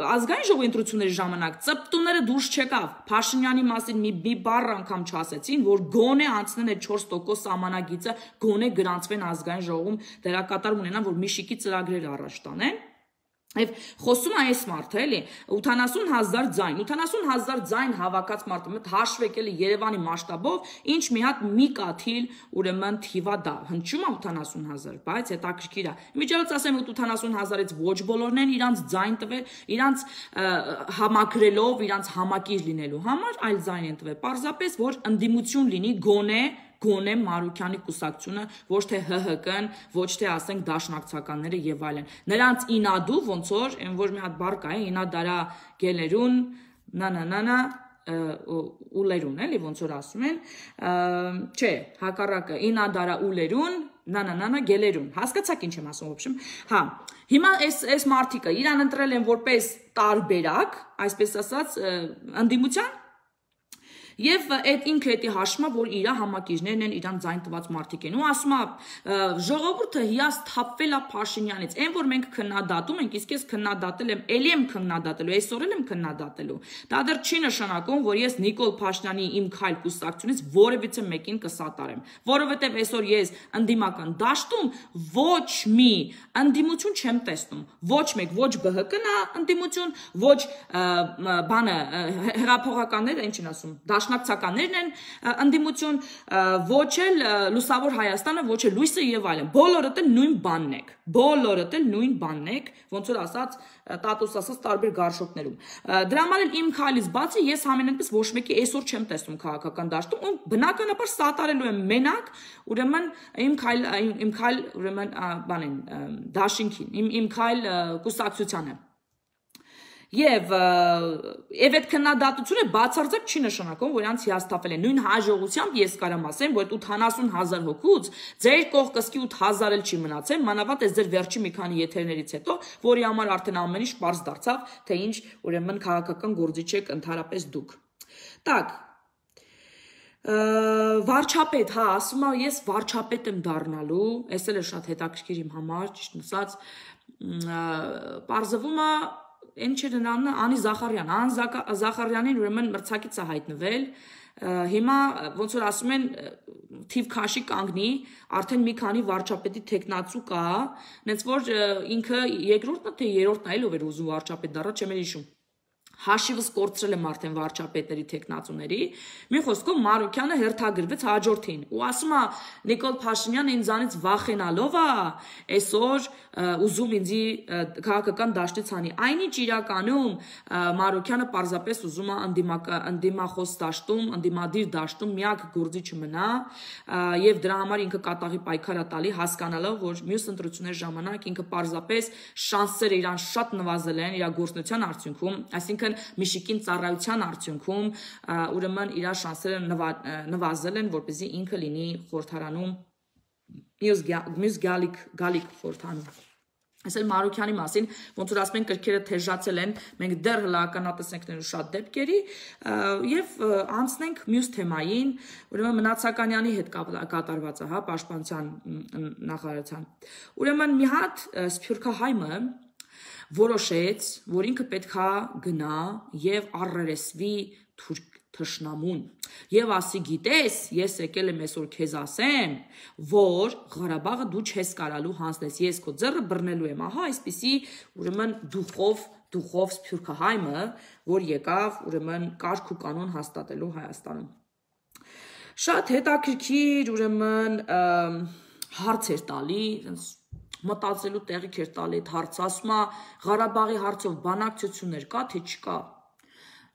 Speaker 1: ազգային ժողովի ընտրությունների ժամանակ ծպտուները դուրս չեկավ։ Փաշինյանի մասին մի բառ անգամ չասեցին, որ գոնե անցնեն այդ 4% սահմանագիծը, գոնե գրանցվեն ազգային ժողովում դերակատարում ունենան, որ Միշիկի ծրագրերը առաջ տանեն։ Եվ խոսում է այս մարդը, էլի, 80,000 ձայն, 80,000 ձայն հավաքած մարդը, մտ հաշվեք էլի Երևանի մասշտաբով, ինչ մի հատ մի կաթիլ, ուրեմն թիվա դա, հնչում է 80,000, բայց հետաքրքիր է։ Միջելոց ասեմ, 80,000-ից ոչ բոլորն են իրանց ձայն տվել, իրանց համակրելով, իրանց համակիր լինելու համար, այլ ձայն են տվել, պարզապես, որ ընդդիմություն լինի գոնե գոնե Մարուքյանի կուսակցությունը, ոչ թե ՀՀԿ-ն, ոչ թե ասենք դաշնակցականները եւ այլն։ Նրանց ինադու ոնց որ, այն որ մի հատ բառ կա, ինադարա գելերուն, նանանանա ուլերուն, էլի ոնց որ ասում են, չէ, հակառակը ինադարա ուլերուն, նանանանա գելերուն։ Հասկացաք ինչ եմ ասում, ոբշեմ։ Հա, հիմա այս մարդիկը իրան ընտրել են որպես տարբերակ, այսպես ասած, ընդդիմության Եվ այդ ինքը էտի հաշմա, որ իրա համակիժներն են իրան ձայն տված մարդիկ են։ Ու ասում է ժողովուրդը հիասթափվել է Փաշինյանից։ Այն որ մենք քննադատում ենք, իսկ ես քննադատել եմ, ելի եմ քննադատելու, այսօր եմ քննադատելու։ Դա դեռ չի նշանակում, որ ես Նիկոլ Փաշինյանի իմ քայլ կուսակցությունից որևիցե մեկին կսատարեմ, որովհետև այսօր ես ընդդիմական դաշտում ոչ մի ընդդիմություն չեմ տեսնում։ Ոչ մեկ, ոչ ԲՀԿ-ն է ընդդիմություն, ոչ բանը հեղափոխականները, ինչ են ասում, դաշնակցականներն են ընդդիմություն, ոչ էլ Լուսավոր Հայաստանը, ոչ էլ Լույսը եւ այլն։ Բոլորդ էլ նույն բանն եք։ Բոլորդ էլ նույն բանն եք, ոնց որ ասած տատուս ասած տարբեր գարշոկներում։ Դրա համար էլ իմ քայլից բացի ես համենայնպես ոչ մեկի այսօր չեմ տեսնում քաղաքական դաշտում, ու բնականաբար սատարելու եմ մենակ, ուրեմն իմ քայլ ուրեմն բանին դաշինքին, իմ քայլ կուսակցությանը։ Եվ այդ քննադատությունը բացարձակ չի նշանակում, որ իրանց հիասթափել են։ Նույն հաջողությամբ ես կարամ ասեմ, որ 80,000 հոգուց ձեր կողքսկի 8,000 էլ չի մնացել, մանավանդ այս ձեր վերջի մի քանի եթերներից հետո, որի համար արդեն ամեն ինչ պարզ դարձավ, թե ինչ ուրեմն քաղաքական գործիչ եք ընդհանրապես դուք։ Так վարչապետ, հա, ասում եմ ես վարչապետ եմ դառնալու, այս էլ է շատ հետաքրքիր իմ համար, ճիշտ ասած, պարզվում է Այն չէ նրանը Անի Զախարյան, Ան Զախարյանին ուրեմն մրցակից է հայտնվել, հիմա ոնց որ ասում են թիվ քաշի կանգնի, արդեն մի քանի վարչապետի տեխնացու կա, նենց որ ինքը երկրորդն է թե երրորդն է, ով էր ուզում վարչապետ դառնա, չեմ հիշում։ Հաշիվս կորցրել եմ արդեն վարչապետների տեխնացուների, մի խոսքով Մարուքյանը հերթագրվեց հաջորդին, ու ասում է Նիկոլ Փաշինյանը ինձանից վախենալով է այսօր ուզում ինձի քաղաքական դաշտից հանի, այնինչ իրականում Մարուքյանը պարզապես ուզում է ընդդիմախոս դաշտում, ընդդիմադիր դաշտում միակ գործիչը մնա, եւ դրա համար ինքը կատաղի պայքար է տալի, հասկանալով, որ մյուս ընտրությունների ժամանակ ինքը պարզապես շանսերը իրան շատ նվազել են իր գործունեության արդյունքում, այսինքն Միշիկին ծառայության արդյունքում ուրեմն իր շանսերը նվազել են, որպեսզի ինքը լինի խորհրդարանում մյուս գալիք խորհրդանում։ Այսօր Մարուքյանի մասին, ոնց որ ասում են կրքերը թեժացել են, մենք դեռ հլականատեսենք շատ դեպքերի եւ անցնենք մյուս թեմային, ուրեմն Մնացականյանի հետ կատարված է, հա, պաշտպանության նախարարության։ Ուրեմն մի հատ Սփյուռքահայմը որոշեց, որ ինքը պետքա գնա եւ առերեսվի թշնամուն եւ ասի գիտես, ես եկել եմ այսօր քեզ ասեմ, որ Ղարաբաղը դու չես կարալու հանձնես, ես քո ձեռը բռնելու եմ, ահա այսպիսի ուրեմն դուխով Սփյուռքահայմը, որ եկավ ուրեմն կարգ ու կանոն հաստատելու Հայաստանում։ Շատ հետաքրքիր ուրեմն հարց էր տալի, մտածելու տեղիք էր տալի այդ հարցը, ասում է Ղարաբաղի հարցով բանակցություններ կա, թե չկա։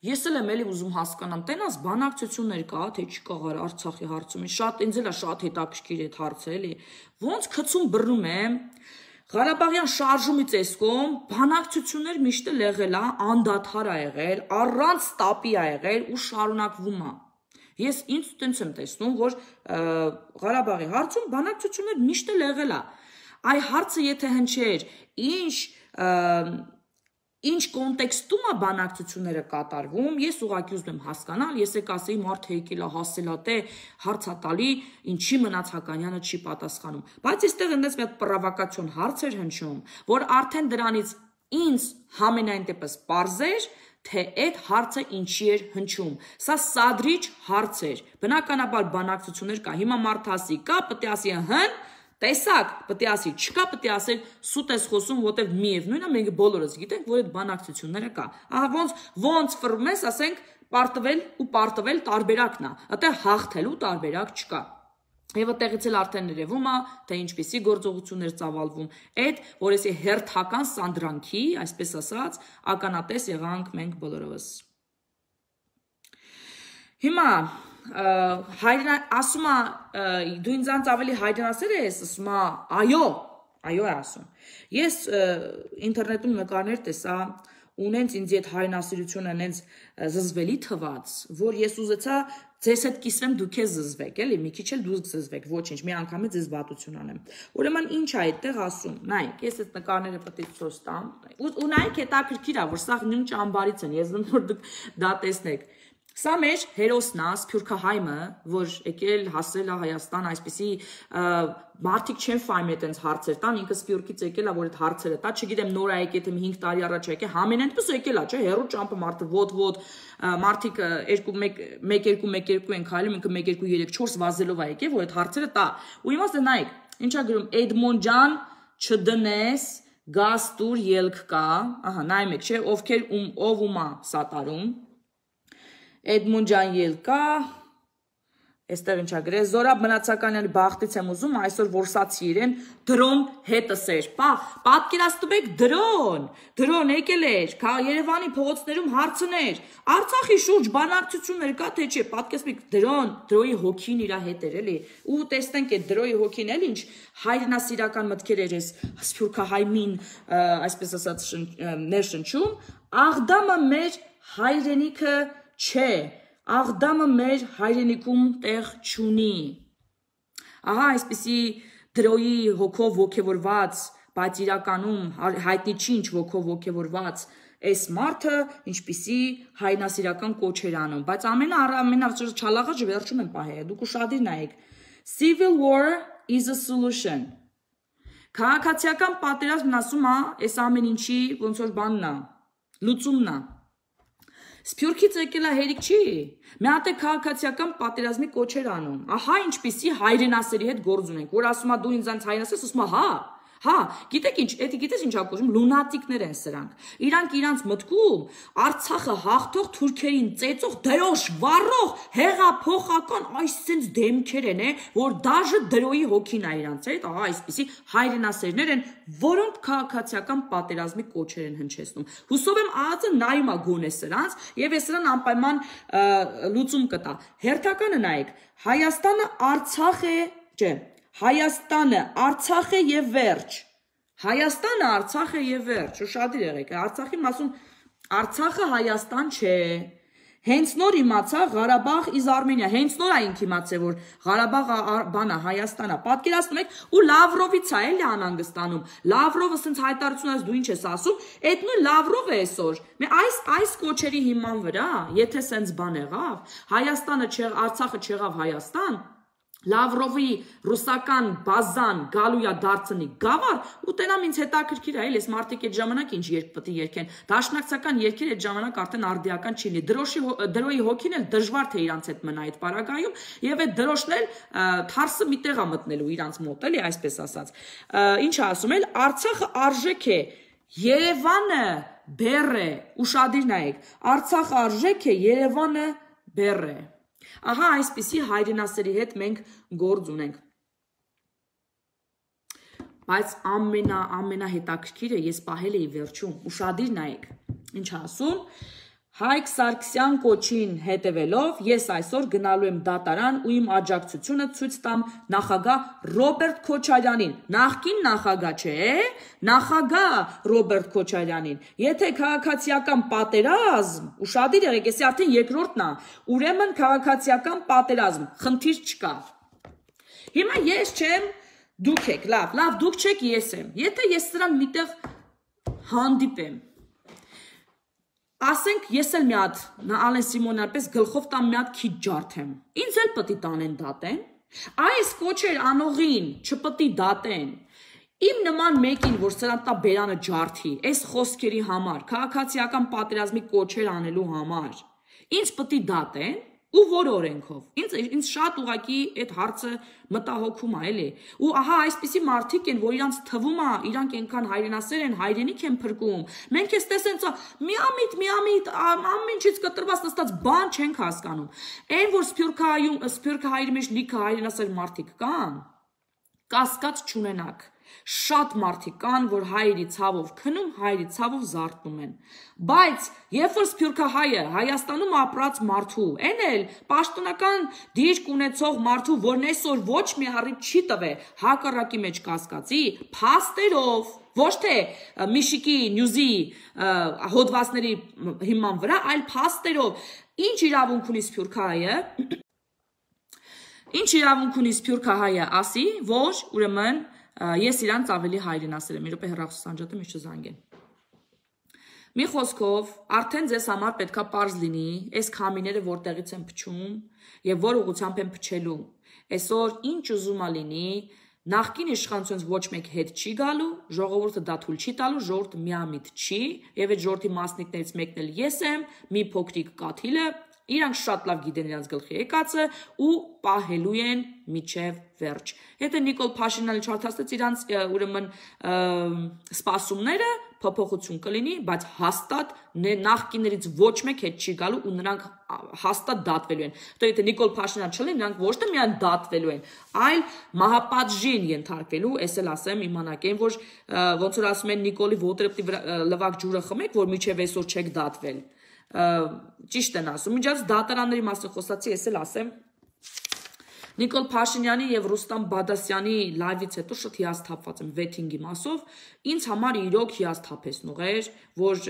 Speaker 1: Ես էլ եմ էլի ուզում հասկանամ, տենաս բանակցություններ կա, թե չկա Արցախի հարցում, ինձ էլ է շատ հետաքրքիր այդ հարցը, էլի։ Ոնց քցում բռնում եմ, Ղարաբաղյան շարժումից էսկոմ բանակցություններ միշտ էլ եղել է, անդադար է եղել, առանց տապի է եղել ու շարունակվում է։ Ես ինձ տենց եմ տեսնում, որ Ղարաբաղի հարցում բանակցություններ միշտ էլ եղել է։ Այ հարցը եթե հնչեր, ինչ կոնտեքստում է բանակցությունները կատարվում, ես ուղղակի ուզում եմ հասկանալ, ես ասեի մարդը եկել է հասելատե հարցա տալի, ինչի Մնացականյանը չի պատասխանում։ Բայց այստեղ այնպես մի հատ պրովոկացիոն հարց էր հնչում, որ արդեն դրանից ինձ համենայն դեպս պարզ էր, թե այդ հարցը ինչի էր հնչում։ Սա սադրիչ հարց էր։ Բնականաբար բանակցություններ կա, հիմա մարդը ասի կա, պետք է ասի հն Տեսակ, պետք է ասի, չկա, պետք է ասել սուտ ես խոսում, որտեվ միևնույնն է, մենք բոլորս գիտենք, որ այդ բանակցությունները կա։ Ահա ոնց ֆռվում ես, ասենք, պարտվել ու պարտվել տարբերակն է, այդտեղ հաղթելու տարբերակ չկա։ Եվ այդտեղից էլ արդեն երևում է, թե ինչպիսի գործողություններ ծավալվում, այդ, որ էսի հերթական սանդրանքի, այսպես ասած, ականատես եղանք մենք բոլորովս։ Հիմա ասում է դու ինձանց ավելի հայրենասեր ես, ասում է այո է ասում։ Ես ինտերնետում նկարներ տեսա, ունենց ինձ այդ հայրենասիրությունը նենց զզվելի թված, որ ես ուզեցա ձեզ հետ կիսվեմ դուք ես զզվեք, էլի, մի քիչ էլ դուք զզվեք, ոչինչ, մի անգամ ձեզ վատություն անեմ։ Ուրեմն ինչ է այդտեղ ասում, նայեք, ես այդ նկարները պետք է ցույց տամ, ու նայեք հետաքրքիր է, որ սա նույն ճամբարից են, ես որ դուք դա տեսնեք։ Սա մեր հերոսն է, Սփյուռքահայմը, որ եկել հասել է Հայաստան, այսպիսի մարդիկ չեն ֆայմ այդպես հարցեր տան, ինքը Սփյուռքից եկել է, որ այդ հարցերը տա, չգիտեմ նոր է եկել, թե 5 տարի առաջ եկել, համենայնպես եկել է, չէ, հերո ճամփը մարդը ոտ մարդիկ 1-2 են քայլում, ինքը 1-2-3-4 վազելով է եկել, որ այդ հարցերը տա։ Ու իմաստը նայեք, ինչա գրում Էդմոն ջան, չդնես, գազ տուր ելք կա, ահա, նայում եք, չէ, ովքեր ով ումա սատարում Էդմոն ջան ելկա, այստեղ ինչա գրել, Զորաբ Մնացականյանի բախտից եմ ուզում, այսօր որսացի իրեն, դրոն հետս էր, պատկերացնում եք դրոն եկել էր, Երևանի փողոցներում հարցներ, Արցախի շուրջ բանակցություններ կա, թե չէ, պատկերացնում եք դրոյի հոգին իրա հետ էր, էլի, ու տեսնենք այդ դրոյի հոգին էլ ինչ հայրենասիրական մտքեր էր ես Սփյուռքահայմին, այսպես ասած ներշնչում, Աղդամը մեր հայրենիքը չէ, Աղդամը մեր հայրենիքում տեղ չունի։ Ահա այսպիսի դրոյի հոգով ոգևորված, բայց իրականում հայտնի չի ինչ հոգով ոգևորված այս մարդը ինչպիսի հայրենասիրական կոչ էր անում, բայց ամենաչալաղը վերջում եմ պահել, դուք ուշադիր նայեք։ Civil war is a solution։ Քաղաքացիական պատերազմն ասում է, այս ամեն ինչի ոնց որ բանն է, լուծումն է։ Սփյուռքից եկել է հերիք չի, մի հատ է քաղաքացիական պատերազմի կոչեր անում, ահա ինչպիսի հայրենասերի հետ գործ ունենք, որ ասում է դու ինձանց հայրենասեր, ասում է հա, գիտեք ինչ, գիտես ինչ ակոժում, լունատիկներ են սրանք, իրանց մտքում Արցախը հաղթող թուրքերին ծեծող դրոշ վառող հեղափոխական այսինքն դեմքեր են, որ դաժե դրոյի հոգին է իրանց հետ, ահա այսպիսի հայրենասերներ են, որոնք քաղաքացիական պատերազմի կոչեր են հնչեցնում։ Հուսով եմ ԱԱԾ նայում է գոնե սրանց եւ ես սրան անպայման լուծում կտա։ Հերթականը նայեք, Հայաստանը Արցախ է, չէ, Հայաստանը Արցախ է եւ վերջ։ Հայաստանը Արցախ է եւ վերջ։ Ուշադիր եղեք, Արցախի մասում Արցախը Հայաստան չէ։ Հենց նոր իմացա Ղարաբաղ is Armenia, հենց նոր այն իմացա որ Ղարաբաղը բանա Հայաստանա։ Պատկերացնում եք, ու Լավրովից է էլի անհանգստանում։ Լավրովը ասենց հայտարարություն ասում, դու ինչ ես ասում, այդ նույն Լավրովը այսօր։ Այս կոչերի հիման վրա, եթե սենց բան եղավ, Հայաստանը Արցախը չեղավ Հայաստան, Լավրովի ռուսական բազան գալույա դարձնի գավառ ու տենամ ինձ հետաքրքիր է, ես մարդիկ այդ ժամանակ ինչ երգ պետք է երգեն, դաշնակցական երգեր այդ ժամանակ արդեն արդիական չի լինի, դրոյի հոգին էլ դժվար թե իրանց հետ մնա այդ պարագայում եւ այդ դրոշն էլ թարսը մի տեղ է մտնելու իրանց մոտ, էլի այսպես ասած, ինչ ասում էլ Արցախը արժեք է, Երևանը բեռ է, ուշադիր նայեք, Արցախը արժեք է, Երևանը բեռ է։ Ահա այսպիսի հայրենասերի հետ մենք գործ ունենք։ Բայց ամենահետաքրքիրը ես պահել էի վերջում, ուշադիր նայեք, ինչ ասում, Հայկ Սարգսյան կոչին հետևելով, ես այսօր գնալու եմ դատարան ու իմ աջակցությունը ցույց տամ նախագահ Ռոբերտ Քոչարյանին, նախկին նախագահ չէ, նախագահ Ռոբերտ Քոչարյանին, եթե քաղաքացիական պատերազմ, ուշադիր եղեք, էսի արդեն երկրորդն է, ուրեմն քաղաքացիական պատերազմ, խնդիր չկա։ Հիմա ես չեմ, դուք եք, լավ, դուք չեք, ես եմ, եթե ես սրան միտեղ հանդիպեմ, ասենք ես էլ մի հատ Ալեն Սիմոնյան պես գլխով տամ մի հատ քիչ ջարդեմ, ինձ էլ պետք է տանեն դատեն, այս կոչեր անողին չպետք է դատեն, իմ նման մեկին, որ սրան տա բերանը ջարդի, այս խոսքերի համար, քաղաքացիական պատերազմի կոչեր անելու համար, ինձ պետք է դատեն, ու որ օրենքով, ինձ շատ ուղակի այդ հարցը մտահոգում է, էլի, ու ահա այսպիսի մարդիկ են, որ իրանց թվում է, իրանք այնքան հայրենասեր են, հայրենիք են փրկում, մենք ես տեսենց միամիտ, ամեն ինչից կտրված նստած բան չենք հասկանում, այն, որ Սփյուռքահայերի մեջ լիքը հայրենասեր մարդիկ կան, կասկած չունենաք, Շատ մարդիկ կան, որ հայերի ցավով քնում, հայերի ցավով զարթնում են։ Բայց երբ որ սփյուռքահայը Հայաստանում ապրած մարդու, այն էլ պաշտոնական դիրք ունեցող մարդու, որն այսօր ոչ մի առիթ չի տվել հակառակի մեջ կասկածի, փաստերով, ոչ թե Միշիկի նյուզի հոդվածների հիման վրա, այլ փաստերով, ինչ իրավունք ունի սփյուռքահայը ասի, որ ուրեմն ես իրանց ավելի հայրենասեր եմ, մի րոպե հեռախոսանջատեմ, ինչ չզանգեն։ Մի խոսքով, արդեն ձեզ համար պետքա պարզ լինի, այս քամիները որտեղից են փչում եւ որ ուղղությամբ են փչելու։ Այսօր ինչ ուզում ա լինի, նախկին իշխանությունից ոչ մեկ հետ չի գալու, ժողովուրդը դա թույլ չի տալու, ժողովուրդը միամիտ չի, եւ այդ ժողովրդի մասնիկներից մեկն էլ ես եմ, մի փոքրիկ կաթիլը, իրանք շատ լավ գիտեն իրանց գլխի եկածը ու պահելու են միջև վերջ։ Եթե Նիկոլ Փաշինյանը չարթաստեց իրանց ուրեմն սպասումները, փոփոխություն կլինի, բայց հաստատ նախկիներից ոչ մեկ հետ չի գալու ու նրանք հաստատ դատվելու են։ Դե եթե Նիկոլ Փաշինյան չլինի, նրանք ոչ թե միայն դատվելու են, այլ մահապատժին ենթարկվելու, ես էլ ասեմ, իմանաք են, որ ոնց որ ասում են Նիկոլի ոտրեպտի լվակ ջուրը խմեք, որ միջև այսօր չեք դատվել։ Ճիշտ են ասում, միջած դատարանների մասին խոսացի, ես էլ ասեմ, Նիկոլ Փաշինյանի եւ Ռուստամ Բադասյանի լայվից հետո շատ հիասթափված եմ վեթինգի մասով, ինձ համար իրոք հիասթափեցնող էր, որ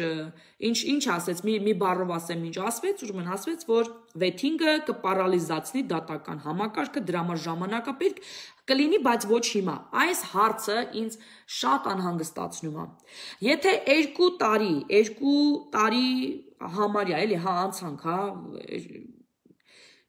Speaker 1: ինչ ասեց, մի բառով ասեմ, ինչ ասվեց, ուրեմն ասվեց, որ վեթինգը կպարալիզացնի դատական համակարգը, դրա համար ժամանակապետք կլինի, բայց ոչ հիմա։ Այս հարցը ինձ շատ անհանգստացնում է։ Եթե 2 տարի համարյա, էլի, հա, անցանք, հա,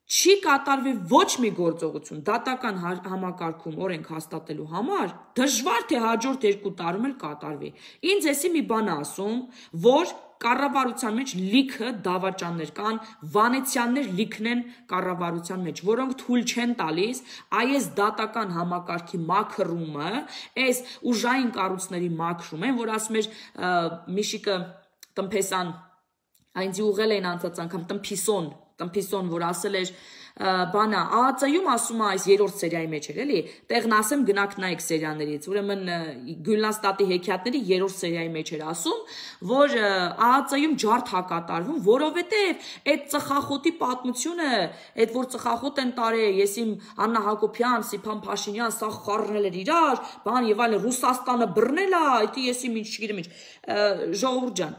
Speaker 1: չի կատարվի ոչ մի գործողություն դատական համակարգում օրենք հաստատելու համար, դժվար թե հաջորդ 2 տարում էլ կատարվի։ Ինձ էսի մի բան ասում, որ կառավարության մեջ լիքը դավաճաններ կան, վանեցյաններ լիքն են կառավարության մեջ, որոնք թույլ չեն տալիս այս դատական համակարգի մաքրումը, այս ուժային կառույցների մաքրումը, որ ասում էր Միշիկը տնփեսան, այնձի ուղղել էին անցած անգամ տնփիսոն, որ ասել էր բանա, ԱԱԾ-ում ասում է այս 3-րդ սերիայի մեջ էր, էլի, տեղն ասեմ գնաք նայեք սերիաներից, ուրեմն Գյուլնաստատի հեքիաթների 3-րդ սերիայի մեջ էր ասում, որ ԱԱԾ-ում ջարդ հակատարվում, որովհետև այդ ծխախոտի պատմությունը, այդ որ ծխախոտ են տարել, ես իմ Աննա Հակոբյան, Սիփան Փաշինյան, սա խառնել էր իրար, բան եւ այլն, Ռուսաստանը բռնել է, դա ես իմ ինչ չգիտեմ ինչ, ժողովուրդ ջան,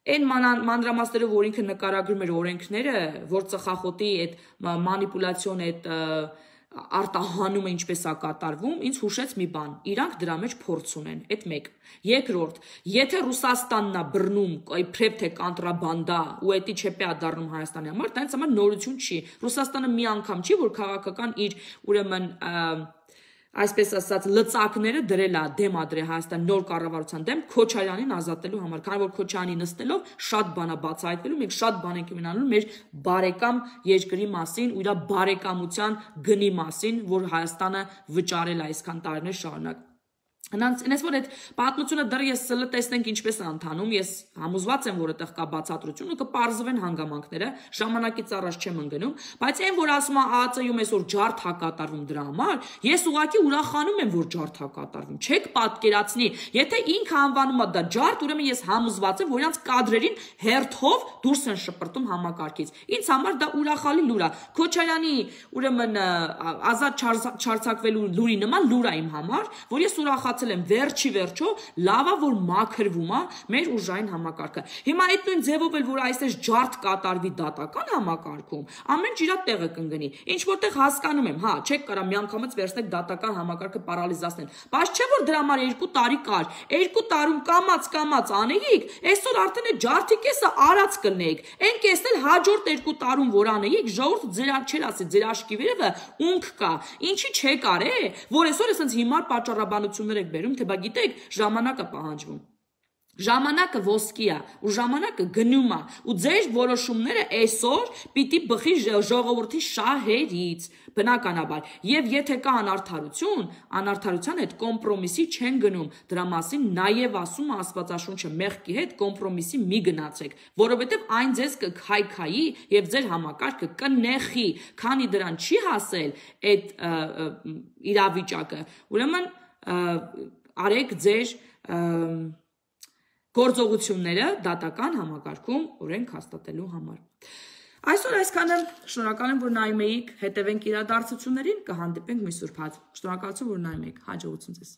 Speaker 1: այն մանրամասներով, որ ինքը նկարագրում էր օրենքները, որ ծխախոտի այդ մանիպուլյացիոն, այդ արտահանումը ինչպես է կատարվում, ինձ հուշեց մի բան, իրանք դրա մեջ փորձ ունեն, այդ մեկ։ Երկրորդ, եթե Ռուսաստանն է բռնում, իբրև թե կոնտրաբանդա ու էդի չեպե է դառնում Հայաստանի համար, դա ինձ համար նորություն չի։ Ռուսաստանը մի անգամ չի, որ քաղաքական իր ուրեմն այսպես ասած լծակները դրել է դեմ ադրել Հայաստան նոր կառավարության դեմ Քոչարյանին ազատելու համար, քանի որ Քոչարյանի նստելով շատ բան է բացահայտվելու, մենք շատ բան ենք իմանալու մեր բարեկամ երկրի մասին ու իր բարեկամության գնի մասին, որ Հայաստանը վճարել է այսքան տարիներ շարունակ։ Հենց որ այդ պատմությունը դեռ ես սլը տեսնենք ինչպես է ընթանում, ես համոզված եմ, որ այդտեղ կա բացատրություն ու կպարզվեն հանգամանքները, ժամանակից առաջ չեմ ընկնում, բայց այն որ ասում է ԱԱԾ-ում այսօր ջարդ հակատարվում դրա համար, ես ուղղակի ուրախանում եմ, որ ջարդ հակատարվում։ Չեք պատկերացնի, եթե ինքը անվանում է դա ջարդ, ուրեմն ես համոզված եմ, որ իրանց կադրերին հերթով դուրս են շպրտում համակարգից։ Ինձ համար դա ուրախալի լուր է։ Քոչարյանի ուրեմն ազատ չարձակվելու լուրի նման լուր է իմ համար, որ ես ուրախացել եմ վերջի վերջո, լավա որ մաքրվում է մեր ուժային համակարգը։ Հիմա այդ նույն ձևով էլ որ այսպես ջարդ կատարվի դատական համակարգում, ամեն ինչ իր տեղը կընկնի։ Ինչ որտեղ հասկանում եմ, հա, չեք կարա միանգամից վերցնեք դատական համակարգը պարալիզացնել։ Բայց չէ որ դրա համար 2 տարի կար։ 2 տարում կամած անեիք, այսօր արդեն այդ ջարդի կեսը արած կլնեիք։ Այն կեսն էլ հաջորդ 2 տարում որ անեիք, ժողովուրդը ձեր չեր ասի, ձեր աշկի վերևը ունք կա։ Ինչի չեք արել, որ այսօր էսենց հիմար պատճառաբանություններ եք բերում, թե բա գիտեք, ժամանակը պահանջվում։ Ժամանակը ոսկի է ու ժամանակը գնում է ու ձեր որոշումները այսօր պիտի բխի ժողովրդի շահերից բնականաբար եւ եթե կա անարդարության հետ կոմպրոմիսի չեն գնում դրա մասին նաեւ ասում է Աստվածաշունչը մեղքի հետ կոմպրոմիսի մի գնացեք որովհետեւ այն ձեզ կքայքայի եւ ձեր համակարգը կնեխի քանի դրան չի հասել այդ իրավիճակը ուրեմն արեք ձեր գործողությունները դատական համակարգում օրենք հաստատելու համար։ Այսօր այսքանը, շնորհակալ եմ, որ նայում էիք, հետևենք իրադարձություններին, կհանդիպենք մյուս ուրբաթ։ Շնորհակալություն, որ նայում եք, հաջողություն ձեզ։